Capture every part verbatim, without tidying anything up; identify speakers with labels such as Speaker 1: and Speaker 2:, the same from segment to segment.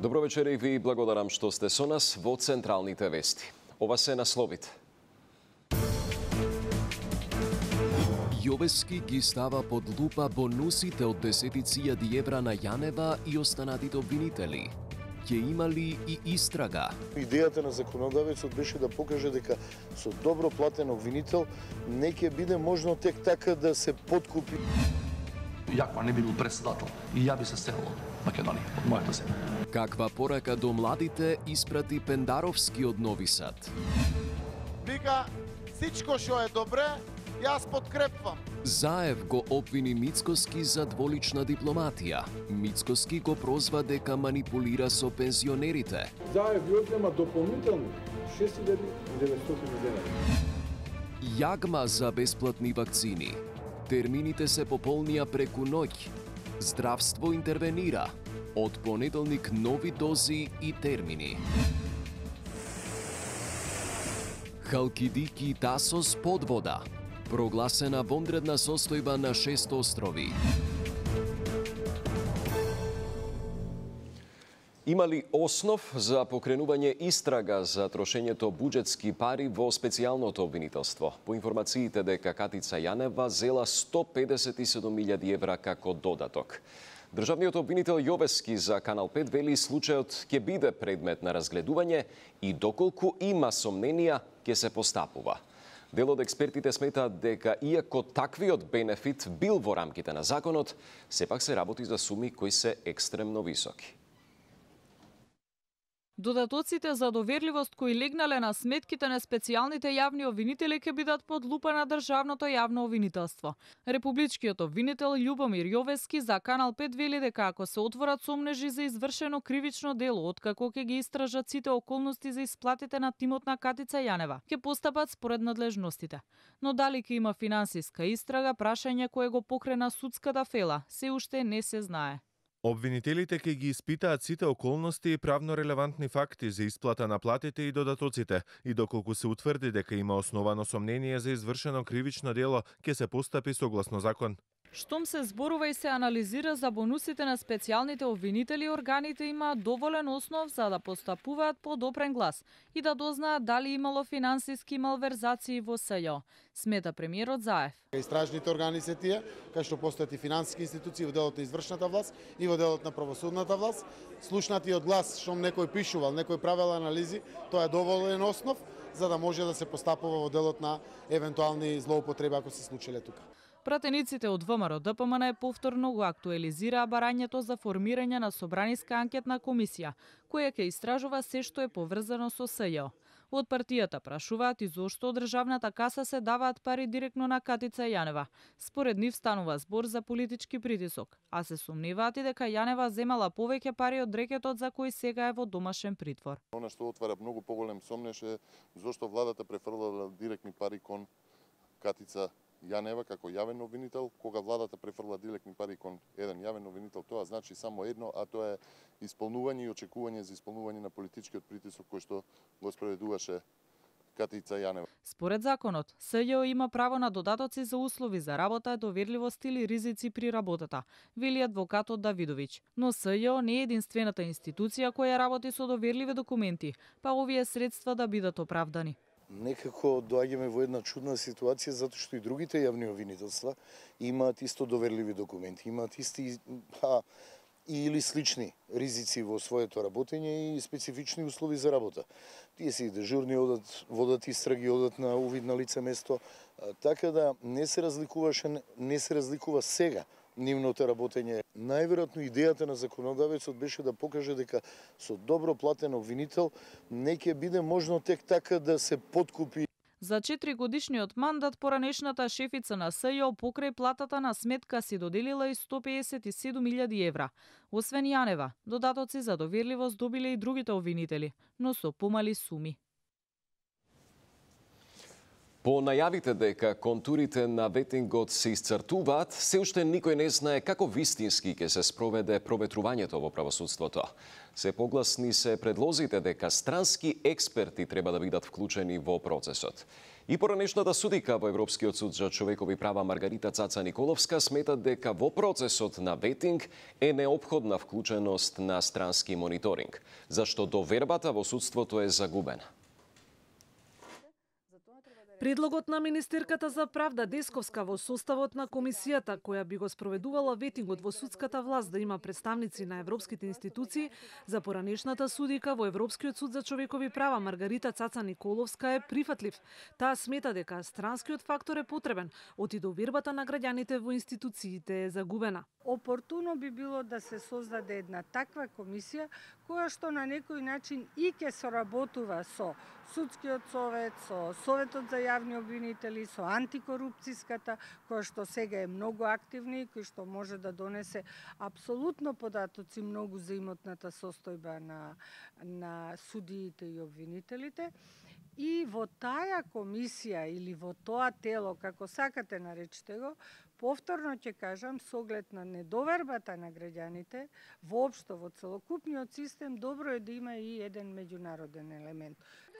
Speaker 1: Добро вечер и ви благодарам што сте со нас во централните вести. Ова се насловите.
Speaker 2: Јовески ги става под лупа бонусите од десетици илјади евра на Јанева и останатите обвинители. Ќе имали и истрага.
Speaker 3: Идејата на законодавецот беше да покаже дека со добро платен обвинител не ќе биде можно тек така да се подкупи.
Speaker 4: Јакова не би бил председател и ја би се селил од Македонија, од мојата земја.
Speaker 2: Каква порака до младите испрати Пендаровски од Нови Сад?
Speaker 5: Вика, сичко што е добре, јас подкрепвам.
Speaker 2: Заев го обвини Мицкоски за дволична дипломатија. Мицкоски го прозва дека манипулира со пензионерите.
Speaker 6: Заев ја одзема дополнителни шест илјади и деветстотини денари.
Speaker 2: Јагма за бесплатни вакцини. Термините се пополнија преку ноќ. Здравство интервенира. Од понеделник нови дози и термини. Халкидики Тасос под вода. Прогласена вонредна состојба на шест острови.
Speaker 1: Има ли основ за покренување истрага за трошењето буџетски пари во специјалното обвинителство? По информациите дека Катица Јанева зела сто педесет и седум илјади евра како додаток. Државниот обвинител Јовески за Канал пет вели случајот ќе биде предмет на разгледување и доколку има сомненија ќе се постапува. Дел од експертите сметаат дека иако таквиот бенефит бил во рамките на законот, сепак се работи за суми кои се екстремно високи.
Speaker 7: Додатоците за доверливост кои легнале на сметките на специјалните јавни обвинители ќе бидат под лупа на државното јавно обвинителство. Републичкиот обвинител Љубомир Јовески за Канал пет вели дека ако се отворат сомнежи за извршено кривично дело, откако ќе ги истражат сите околности за исплатите на тимот на Катица Јанева, ќе постапат според надлежностите. Но дали ќе има финансиска истрага, прашање кое го покрена судската фела, се уште не се знае.
Speaker 8: Обвинителите ќе ги испитаат сите околности и правно релевантни факти за исплата на платите и додатоците и доколку се утврди дека има основано сомнение за извршено кривично дело, ќе се постапи согласно закон.
Speaker 7: Штом се зборува и се анализира за бонусите на специјалните обвинители, органите имаат доволен основ за да постапуваат по допрен глас и да дознаат дали имало финансиски малверзации во СЈО, смета премиерот Заев.
Speaker 5: Истражните органи се тие, кај што постојат и финансиски институции во делот на извршната власт и во делот на правосудната власт. Слушнатиот глас, што некој пишувал, некој правел анализи, тоа е доволен основ за да може да се постапува во делот на евентуални злоупотреби ако се случиле тука.
Speaker 7: Пратениците од ВМРО Д П М Н повторно го актуализираа барањето за формирање на собраниска анкетна комисија, која ќе истражува се што е поврзано со СЈО. Од партијата прашуваат и зошто од државната каса се даваат пари директно на Катица Јанева. Според нив станува збор за политички притисок, а се сомневаат и дека Јанева земала повеќе пари од рекетот за кој сега е во домашен притвор.
Speaker 9: Она што отвара многу поголем сомнеж е зошто владата префрлала директни пари кон Катица Јанева како јавен обвинител. Кога владата префрла директни пари кон еден јавен обвинител, тоа значи само едно, а тоа е исполнување и очекување за исполнување на политичкиот притисок кој што го спроведуваше Катица Јанева.
Speaker 7: Според законот, СЈО има право на додатоци за услови за работа, доверливост или ризици при работата, вели адвокатот Давидовиќ. Но СЈО не е единствената институција која работи со доверливи документи, па овие средства да бидат оправдани.
Speaker 3: Некако доаѓаме во една чудна ситуација затоа што и другите јавни обвинителства имаат исто доверливи документи, имаат исти па, или слични ризици во своето работење и специфични услови за работа. Тие се и дежурни, одат, водат истраги, одат на увид на лице место, така да не се разликуваше, не се разликува сега нивното работење. Најверојатно идејата на законодавецот беше да покаже дека со добро платен обвинител не ќе биде можно тек така да се подкупи.
Speaker 7: За четири годишниот мандат поранешната шефица на СЈО покрај платата на сметка си доделила и сто педесет и седум илјади евра. Освен Јанева, додатоци за доверливост добиле и другите обвинители, но со помали суми.
Speaker 1: По најавите дека контурите на ветингот се исцртуваат, се уште никој не знае како вистински ќе се спроведе проветрувањето во правосудството. Се погласни се предлозите дека странски експерти треба да бидат вклучени во процесот. И поранешната судика во Европскиот суд за човекови права Маргарита Цаца Николовска смета дека во процесот на ветинг е неопходна вклученост на странски мониторинг, зашто довербата во судството е загубена.
Speaker 10: Предлогот на министерката за правда Десковска во составот на комисијата која би го спроведувала ветингот во судската власт да има представници на европските институции, за поранешната судика во Европскиот суд за човекови права Маргарита Цаца Николовска е прифатлив. Таа смета дека странскиот фактор е потребен, оти довербата на граѓаните во институциите е загубена.
Speaker 11: Опортуно би било да се создаде една таква комисија која што на некој начин и ќе соработува со Судскиот совет, со Советот за јавни обвинители, со антикорупцијската, која што сега е многу активна и која што може да донесе апсолутно податоци многу за имотната состојба на, на судиите и обвинителите. И во таа комисија или во тоа тело, како сакате наречете го, повторно ќе кажам, со оглед на недовербата на граѓаните, воопшто во целокупниот систем, добро е да има и еден меѓународен елемент.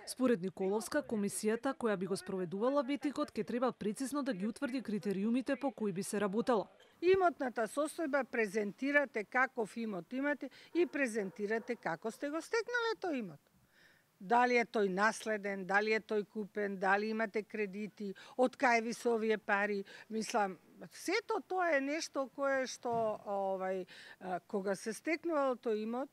Speaker 10: Според Николовска, комисијата која би го спроведувала ветингот ќе треба прецизно да ги утврди критериумите по кои би се работело.
Speaker 11: Имотната состојба презентирате каков имот имате и презентирате како сте го стекнале тој имот. Дали е тој наследен, дали е тој купен, дали имате кредити, од кај ви се овие пари. Мислам, сето тоа е нешто кое што овај кога се стекнувал тој имот,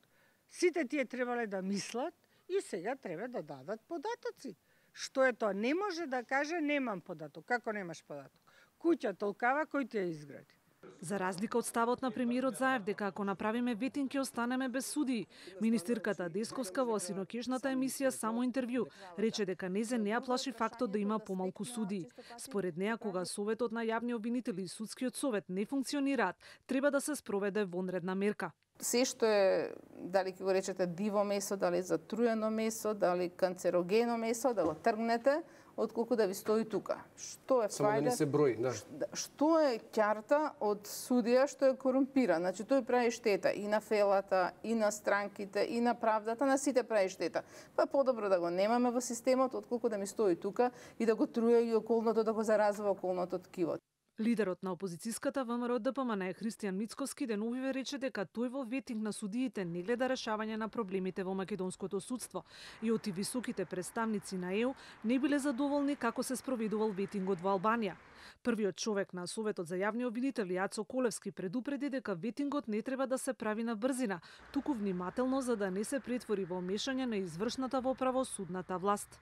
Speaker 11: сите тие требале да мислат и сега треба да дадат податоци. Што е тоа? Не може да каже немам податок. Како немаш податок? Куќа толкава кој ти ја изгради.
Speaker 10: За разлика од ставот на премиерот Заев дека ако направиме ветинг ќе останеме без судии, министерката Десковска во синокешната емисија Само интервју рече дека незе не ја плаши фактот да има помалку судии. Според неа, кога Советот на јавни обвинители и Судскиот совет не функционираат, треба да се спроведе вонредна мерка.
Speaker 12: Се што е, дали ќе го речете диво месо, дали затруено месо, дали канцерогено месо, да го тргнете, отколку да ви стои тука. Што е
Speaker 13: Само да не се брои, да.
Speaker 12: Што е ќарта од судија што е корумпиран? Значи тој прави штета и на фелата, и на странките, и на правдата, на сите прави штета. Па е подобро да го немаме во системот, отколку да ми стои тука и да го труе и околното, да го заразува околното ткиво.
Speaker 10: Лидерот на опозицијската ВМРО Д П М Н Христијан Мицковски деновиве рече дека тој во ветинг на судиите не гледа решавање на проблемите во македонското судство и оти високите представници на Е У не биле задоволни како се спроведувал ветингот во Албанија. Првиот човек на Советот за јавни обвинители Јацо Колевски предупреди дека ветингот не треба да се прави на брзина, туку внимателно за да не се претвори во мешање на извршната во правосудната власт.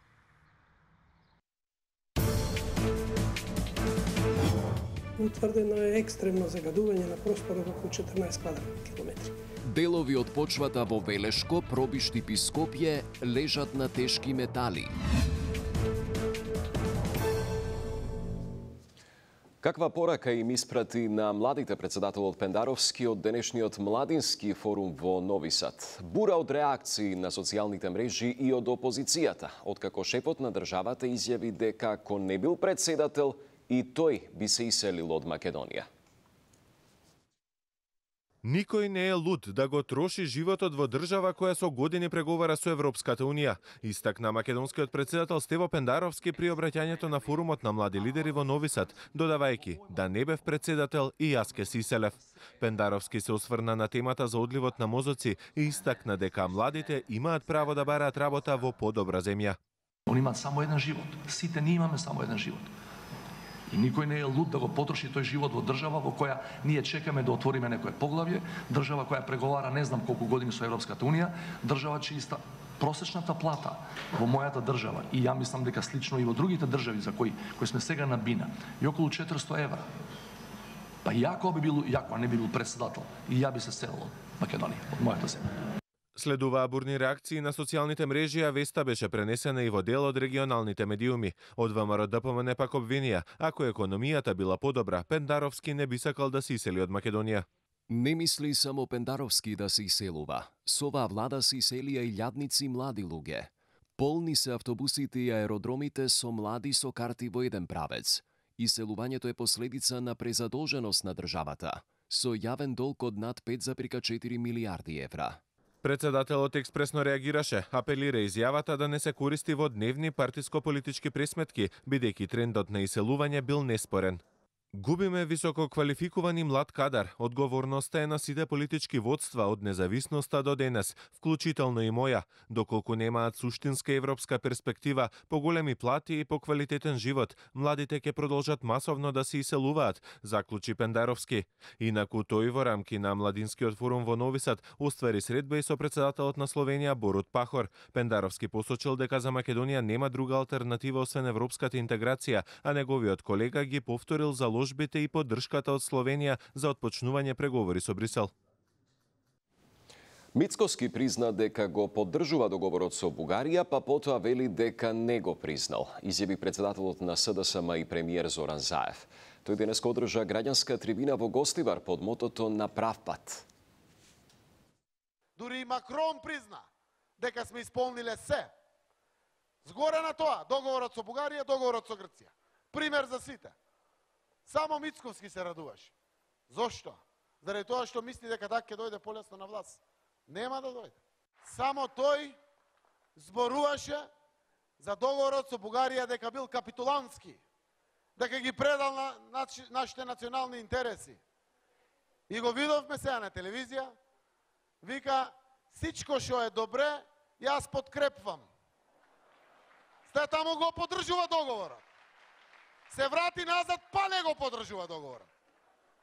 Speaker 14: Утврдено е екстремно загадување на просторот околу четрнаесет квадратни километри.
Speaker 2: Делови од почвата во Велешко, Пробишти, Скопје лежат на тешки метали.
Speaker 1: Каква порака им испрати на младите председателот Пендаровски од денешниот младински форум во Нови Сад? Бура од реакции на социјалните мрежи и од опозицијата, откако шефот на државата изјави дека ако не бил председател, и тој би се иселил од Македонија.
Speaker 8: Никој не е луд да го троши животот во држава која со години преговара со Европската Унија, истакна македонскиот председател Стево Пендаровски при обраќањето на форумот на млади лидери во Нови Сад, додавајќи да не бев председател и јас ке се иселев. Пендаровски се осврна на темата за одливот на мозоци и истакна дека младите имаат право да бараат работа во подобра земја.
Speaker 4: Они имаат само еден живот. Сите ние имаме само еден живот. И никој не е луд да го потроши тој живот во држава во која ние чекаме да отвориме некое поглавје, држава која преговара не знам колку години со Европската Унија, држава чиста просечната плата во мојата држава и ја мислам дека слично и во другите држави за кои кои сме сега на бина, и околу четиристо евра. Па јако би бил, јако не би бил председател, и ја би се селил од Македонија, од мојата земја.
Speaker 8: Следуваа бурни реакции на социјалните мрежи, а веста беше пренесена и во дел од регионалните медиуми. Од ВМРО Д П М Н пак обвинија, ако економијата била подобра, Пендаровски не би сакал да се исели од Македонија.
Speaker 2: Не мисли само Пендаровски да се иселува. Со оваа влада се иселија и илјадници млади луѓе. Полни се автобусите и аеродромите со млади со карти во еден правец. Иселувањето е последица на презадолженост на државата, со јавен долг од над пет зарез четири милијарди евра.
Speaker 8: Председателот експресно реагираше, апелира изјавата да не се користи во дневни партиско-политички пресметки, бидејќи трендот на иселување бил неспорен. Губиме високо квалификуван и млад кадар. Одговорноста е на сите политички водства од независноста до денес, вклучително и моја, доколку немаат суштинска европска перспектива, поголеми плати и поквалитетен живот, младите ќе продолжат масовно да се иселуваат, заклучи Пендаровски. Инаку тој во рамки на Младинскиот форум во Нови Сад оствари средба и со председателот на Словенија Борут Пахор. Пендаровски посочил дека за Македонија нема друга алтернатива освен европската интеграција, а неговиот колега ги повторил за заложбите и поддршката од Словенија за отпочнување преговори со Брисел.
Speaker 1: Мицкоски призна дека го поддржува договорот со Бугарија, па потоа вели дека не го признал, изјави председателот на СДСМ и премиер Зоран Заев. Тој денес одржа граѓанска трибина во Гостивар под мотото на прав пат.
Speaker 5: Дури и Макрон призна дека сме исполниле се. Згоре на тоа, договорот со Бугарија, договорот со Грција. Пример за сите. Само Мицковски се радуваше. Зошто? Заради тоа што мисли дека така ќе дојде полесно на власт. Нема да дојде. Само тој зборуваше за договорот со Бугарија дека бил капитулантски, дека ги предал на нашите национални интереси. И го видовме сега на телевизија, вика, сичко што е добре, јас подкрепвам. Сте таму го поддржува договорот. Се врати назад, па не го поддржува договорот.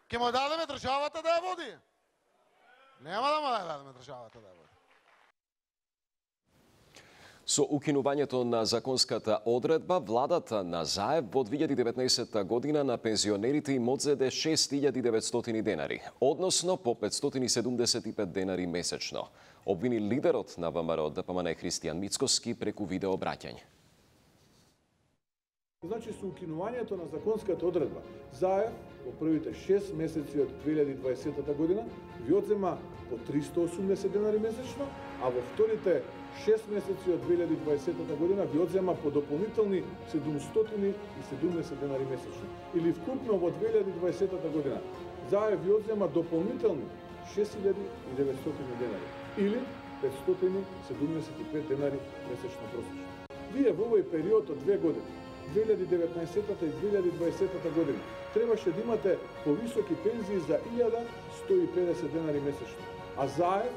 Speaker 5: Ке му дадеме државата да ја води. Нема да му дадеме државата да ја води.
Speaker 1: Со укинувањето на законската одредба, владата на Заев во две илјади и деветнаесетта година на пензионерите им одзеде шест илјади и деветстотини денари, односно по петстотини и седумдесет и пет денари месечно. Обвини лидерот на ВМРО ДПМН Христијан Мицкоски преку видео обраќање.
Speaker 6: Значи, со укинувањето на законската одредба, Заев во првите шест месеци од две илјади и дваесетта година ви одзема по триста и осумдесет денари месечно, а во вторите шест месеци од две илјади и дваесетта година ви одзема по дополнителни седумстотини и седумдесет денари месечно. Или вкупно во две илјади и дваесетта година Заев ви одзема дополнителни шест илјади и деветстотини денари или петстотини и седумдесет и пет денари месечно просечно. Вие во овој период од две години, две илјади и деветнаесетта и две илјади и дваесетта година, требаше да имате повисоки пензии за илјада сто и педесет денари месечно, а Заев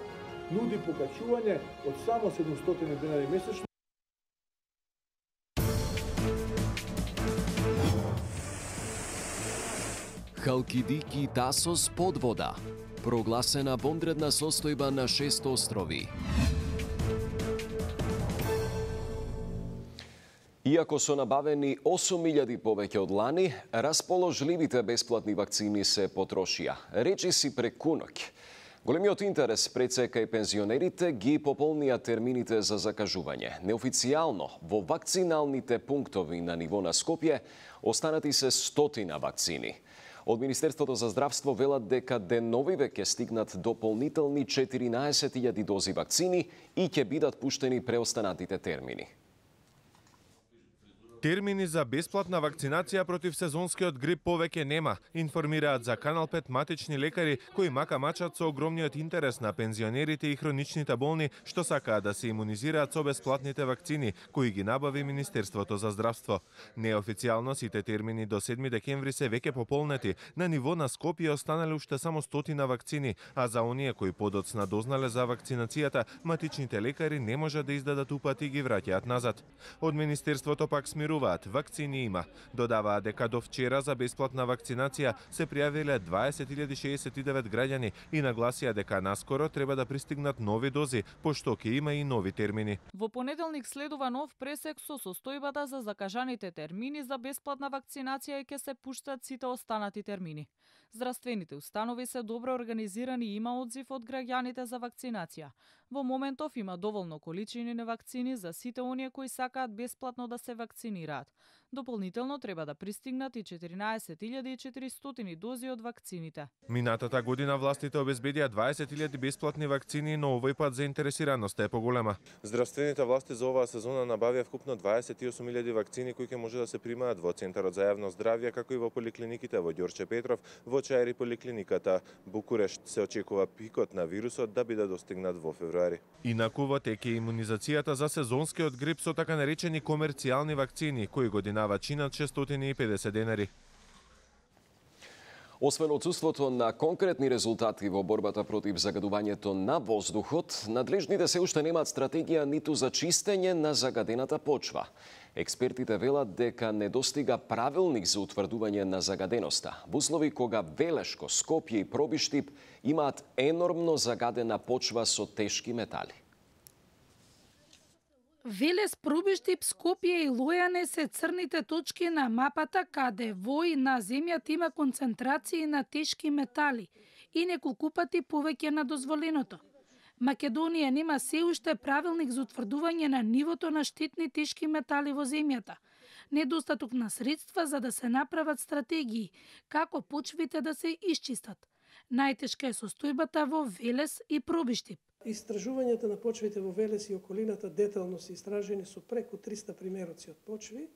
Speaker 6: нуди покачување од само седумстотини денари месечно.
Speaker 2: Халкидики Тасос под вода. Прогласена вонредна состојба на шест острови.
Speaker 1: Иако со набавени осум илјади повеќе од лани, расположливите бесплатни вакцини се потрошија. Речиси преку ноќ. Големиот интерес пред се кај пензионерите ги пополнија термините за закажување. Неофицијално, во вакциналните пунктови на ниво на Скопје, останати се стотина вакцини. Од Министерството за здравство велат дека деновиве ќе стигнат дополнителни четиринаесет илјади дози вакцини и ќе бидат пуштени преостанатите термини.
Speaker 8: Термини за бесплатна вакцинација против сезонскиот грип повеќе нема, информираат за Канал пет матични лекари кои мака мачат со огромниот интерес на пензионерите и хроничните болни што сакаат да се имунизираат со бесплатните вакцини кои ги набави Министерството за здравство. Неофицијално сите термини до седми декември се веќе пополнети. На ниво на Скопје останале уште само стотина вакцини, а за оние кои подоцна дознале за вакцинацијата, матичните лекари не може да издадат упати и ги враќаат назад. Од Министерството пак смируваат, вакцини има. Додаваат дека до вчера за бесплатна вакцинација се пријавиле дваесет илјади шеесет и девет граѓани и нагласија дека наскоро треба да пристигнат нови дози, пошто ќе има и нови термини.
Speaker 7: Во понеделник следува нов пресек со состојбата за закажаните термини за бесплатна вакцинација и ќе се пуштат сите останати термини. Здравствените установи се добро организирани и има одзив од граѓаните за вакцинација. Во моментов има доволно количини на вакцини за сите оние кои сакаат бесплатно да се вакцинираат. Дополнително треба да пристигнат и четиринаесет илјади и четиристотини дози од вакцините.
Speaker 8: Минатата година властите обезбедија дваесет илјади бесплатни вакцини, но овој пат заинтересираноста е поголема. Здравствените власти за оваа сезона набавија вкупно дваесет и осум илјади вакцини кои ќе може да се примаат во Центарот за јавно здравје, како и во поликлиниките во Ѓорче Петров, во Чајри поликлиниката Букурешт. Се очекува пикот на вирусот да биде достигнат во февруари. Инаку во тек е имунизацијата за сезонскиот грип со така наречени комерцијални вакцини, кои годинава чинат шестстотини и педесет денари.
Speaker 1: Освен отсуството на конкретни резултати во борбата против загадувањето на воздухот, надлежните се уште немаат стратегија ниту за чистење на загадената почва. Експертите велат дека недостига правилник за утврдување на загаденоста, во услови кога Велешко, Скопје и Пробиштип имаат енормно загадена почва со тешки метали.
Speaker 13: Велес, Пробиштип, Скопје и Лојане се црните точки на мапата каде во и на земјата има концентрации на тешки метали и неколку пати повеќе на дозволеното. Македонија нема се уште правилник за утврдување на нивото на штетни тешки метали во земјата. Недостаток на средства за да се направат стратегии како почвите да се исчистат. Најтешка е состојбата во Велес и Пробиштип.
Speaker 14: Истражувањата на почвите во Велес и околината детално се истражени со преку триста примероци од почви.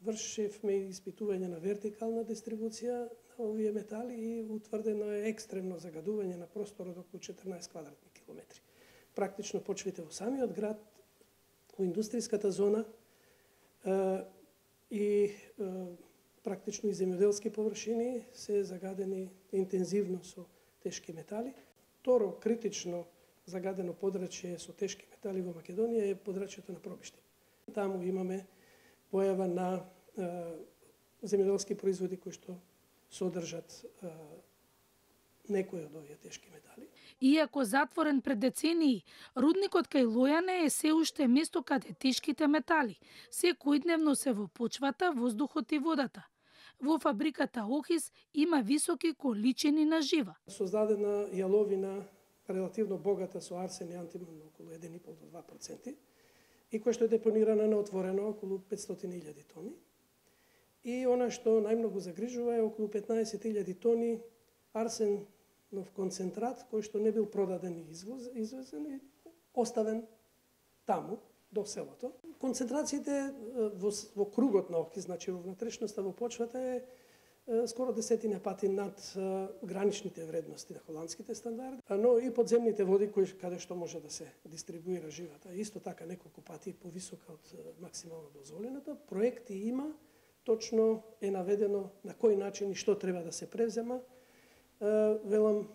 Speaker 14: Вршевме испитување на вертикална дистрибуција на овие метали и утврдено е екстремно загадување на просторот околу четрнаесет квадратни километри. Практично почвите во самиот град, во индустријската зона и практично и земјоделски површини се загадени интензивно со тешки метали. Второ критично загадено подрачје со тешки метали во Македонија е подрачјето на Пробиштип. Таму имаме појава на е, земјоделски производи кои што содржат е, некои од овие тешки метали.
Speaker 13: Иако затворен пред децении, рудникот кај Лојане е се уште место каде тешките метали секојдневно се во почвата, воздухот и водата. Во фабриката Охис има високи количини на жива.
Speaker 14: Создадена јаловина релативно богата со арсен и антимон околу еден и пол до два проценти и која што е депонирана на отворено околу петстотини илјади тони. И она што најмногу загрижува е околу петнаесет илјади тони арсенов концентрат кој што не бил продаден и извоз, извезен и оставен таму до селото. Концентрациите во, во кругот на Охис, значи во внатрешноста во почвата е скоро десетина пати над граничните вредности на холандските стандарди, но и подземните води кои каде што може да се дистрибуира живата, исто така неколку пати повисока од максимално дозволеното. Проекти има, точно е наведено на кој начин и што треба да се превзема. Велам,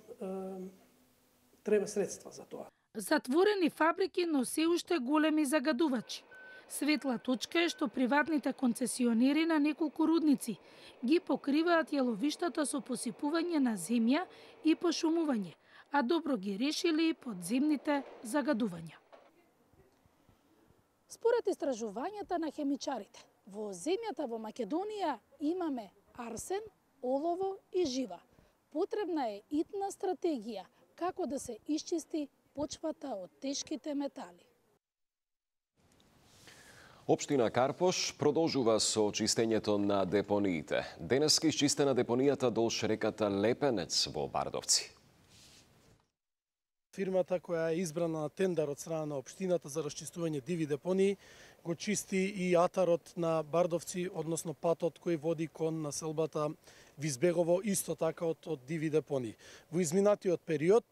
Speaker 14: треба средства за тоа.
Speaker 13: Затворени фабрики, но се уште големи загадувачи. Светла точка е што приватните концесионери на неколку рудници ги покриваат јаловиштата со посипување на земја и пошумување, а добро ги решили подземните загадувања.
Speaker 15: Според истражувањата на хемичарите, во земјата во Македонија имаме арсен, олово и жива. Потребна е итна стратегија како да се исчисти почвата од тешките метали.
Speaker 1: Општина Карпош продолжува со чистењето на депониите. Денеска исчистена депонијата долж реката Лепенец во Бардовци.
Speaker 16: Фирмата која е избрана на тендер од страна на општината за расчистување диви депонии го чисти и атарот на Бардовци, односно патот кој води кон населбата Визбегово, исто така од, од диви депонии. Во изминатиот период,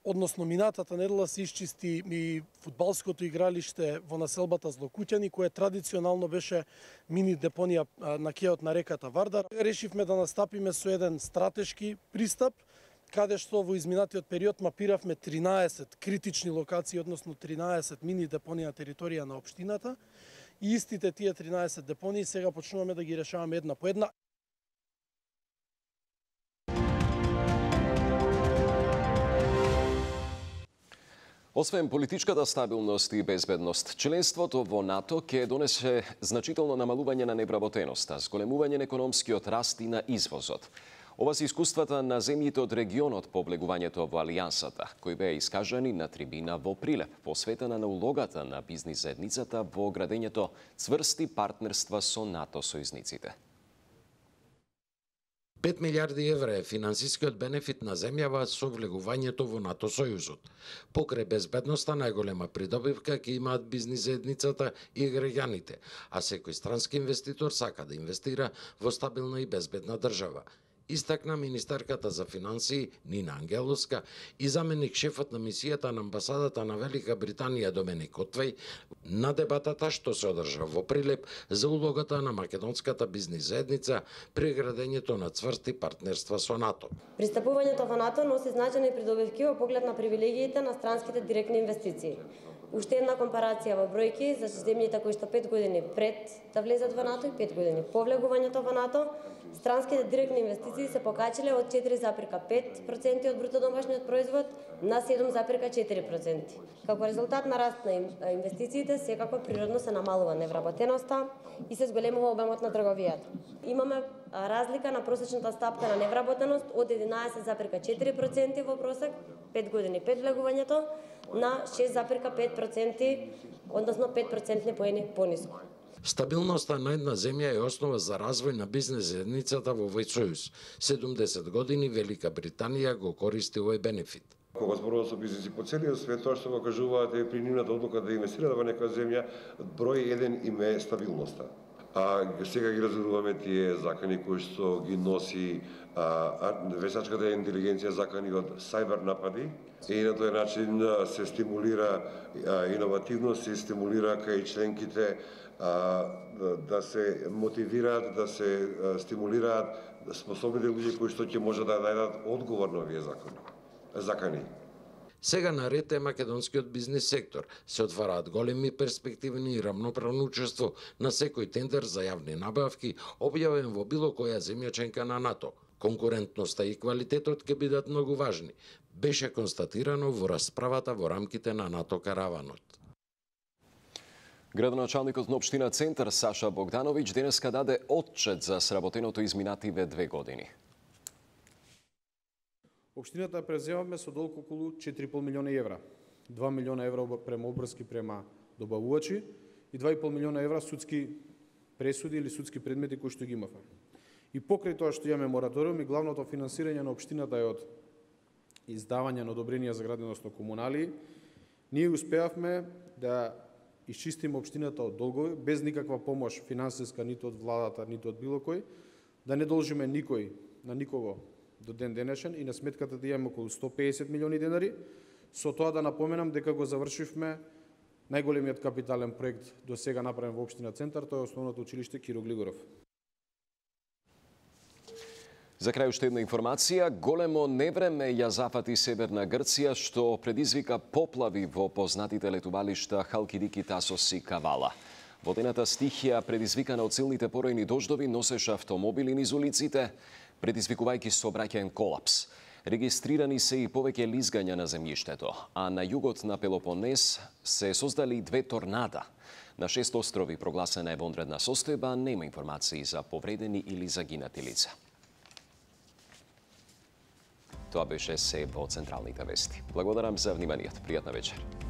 Speaker 16: односно минатата недела, се исчисти и фудбалското игралиште во населбата Злокуќани, кое традиционално беше мини депонија на кејот на реката Вардар. Решивме да настапиме со еден стратешки пристап, каде што во изминатиот период мапиравме тринаесет критични локации, односно тринаесет мини депонии на територија на општината. И истите тие тринаесет депонии сега почнуваме да ги решаваме една по една.
Speaker 1: Освен политичката стабилност и безбедност, членството во НАТО ќе донесе значително намалување на невработеноста, зголемување на економскиот раст и на извозот. Ова се искуствата на земјите од регионот по облегувањето во Алијансата, кои беа искажани на трибина во Прилеп, посветена на улогата на бизнис заедницата во градењето цврсти партнерства со НАТО сојузниците.
Speaker 17: пет милиарди евра е финансискиот бенефит на земјава со влегувањето во НАТО сојузот. Покрај безбедноста најголема придобивка ќе имаат бизнис заедницата и граѓаните, а секој странски инвеститор сака да инвестира во стабилна и безбедна држава. Истакна министерката за финансии Нина Ангеловска и заменик шефот на мисијата на амбасадата на Велика Британија Доменик Отвеј на дебатата што се одржа во Прилеп за улогата на македонската бизнис заедница при градењето на цврсти партнерства со НАТО.
Speaker 18: Пристапувањето во НАТО носи значајни придобивки во поглед на привилегиите на странските директни инвестиции. Уште една компарација во бројки за земјите кои што пет години пред да влезат во НАТО и пет години по влегувањето во НАТО, странските директни инвестиции се покачиле од четири зарез пет проценти од бруто домашниот производ на седум зарез четири проценти. Како резултат на раст на инвестициите, секако природно се намалува невработеноста и се зголемува обемот на трговијата. Имаме разлика на просечната стапка на невработеност од единаесет зарез четири проценти во просек пет години пред влегувањето на шест зарез пет проценти, односно пет процентни поени пониску.
Speaker 17: Стабилноста на една земја е основа за развој на бизнес заедницата во овој сојуз. седумдесет години Велика Британија го користи овој бенефит.
Speaker 19: Кога зборувам со бизниси по целиот свет, тоа што го кажуваате при нивната одлука да инвестираат во некоја земја, број еден им е стабилноста. А сега ги разборуваме тие закани кои што ги носи а, вештачката интелигенција, закани од сајбер напади, и на тој начин се стимулира а, иновативност, се стимулира кај членките а, да се мотивираат, да се а, стимулираат способните луѓе кои што ќе може да најдат одговор на овие закони. закани.
Speaker 17: Сега наред е македонскиот бизнис сектор. Се отвараат големи перспективни и рамноправно учество на секој тендер за јавни набавки, објавен во било која земја членка на НАТО. Конкурентноста и квалитетот ќе бидат многу важни, беше констатирано во расправата во рамките на НАТО караванот.
Speaker 1: Градоначалникот на општина Центар Саша Богдановиќ денеска даде отчет за сработеното изминативе две години.
Speaker 20: Општината преземаме со долг околу четири и пол милиона евра. два милиона евра према обврски према добавувачи и два и пол милиона евра судски пресуди или судски предмети кои што ги имавме. И покрај тоа што имаме мораториум и главното финансирање на општината е од издавање на одобренија за граденост на комунали, ние успеавме да исчистиме општината од долгови без никаква помош финансиска ниту од владата, ниту од било кој, да не должиме никој на никого до ден денешен и на сметката да имаме околу сто песет милиони денари. Со тоа да напоменам дека го завршивме најголемиот капитален проект до сега направен во општина Центар, тоа е основното училиште Киро Глигоров.
Speaker 1: За крај уште една информација, големо невреме ја зафати северна Грција, што предизвика поплави во познатите летувалишта Халкидики, Тасос и Кавала. Водената стихија, предизвикана од силните поројни дождови, носеше автомобили низ улиците, предизвикувајќи сообраќаен колапс. Регистрирани се и повеќе лизгања на земјиштето, а на југот на Пелопонез се создали две торнада. На шест острови прогласена е вонредна состојба, нема информации за повредени или загинати лица. Тоа беше се во централните вести. Благодарам за вниманието. Пријатна вечер.